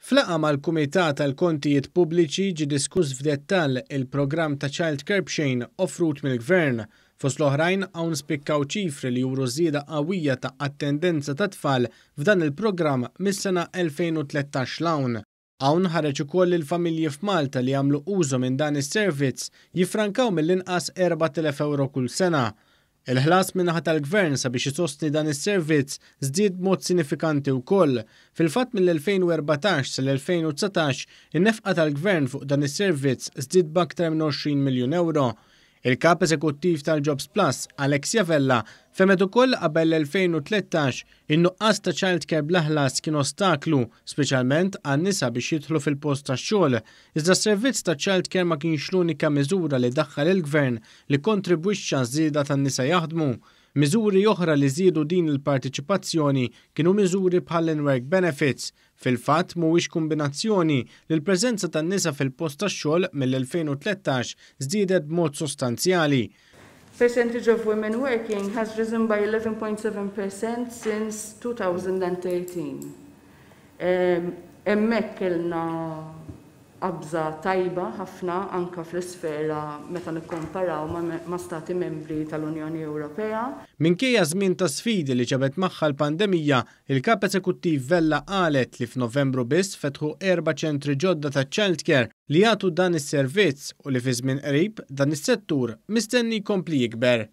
F'laqgħa mal-Kumitat għall-Kontijiet Pubbliċi ġie diskuss f'dettall il-programm ta' Child Care b'xejn offrut mill-Gvern. Fost l-oħrajn hawn spikkaw ċifri li juru żieda qawwija ta' attendenza ta' tfal f'dan il-programm mis-sena 2013 'l hawn. Hawn ħareġ ukoll li l-familji f'Malta li jagħmlu użu minn dan is-servizz jiffrankaw mill-inqas 4,000 ewro kull sena. Il-ħlas min-naħa tal-Gvern sabiex isostni dan is-servizz żdied b'mod sinifikanti wkoll. Fil-fatt mill-2014 sal-2019 in-nefqa tal-Gvern fuq dan is-servizz żdied b'aktar minn 20 miljun ewro. Il-Kap Eżekuttiv tal-Jobs Plus, Alexia Vella, fehmet ukoll li qabel l-2013 in-nuqqas ta' child care bla ħlas kien ostaklu, speċjalment għan-nisa biex jidħlu fil-post tax-xogħol. Iżda s-servizz ta' child care ma kienx l-unika miżura li daħħal il-Gvern li kkontribwixxa għaż-żieda tan-nisa jaħdmu. Miżuri oħra li żiedu din il-parteċipazzjoni kienu miżuri bħall-in-work benefits. Fil-fatt mhuwiex kumbinazzjoni li l-preżenza tan-nisa fil-post tax-xogħol mill-2013 żdiedet b'mod sostanzjali. Percentage of women working has risen by 11.7% since 2013. Hemmhekk kellna qabża tajba ħafna anke fl-isfera meta nikkomparaw ma' stati membri tal-Unjoni Ewropea. Minkejja żmien ta' sfidi li ġabet magħha l-pandemija, il-Kap Eżekuttiv Vella qalet li f'Novembru biss fetħu erba' ċentri ġodda ta' childcare li jagħtu dan is-servizz u li fi żmien qrib dan is-settur mistenni jkompli jikber.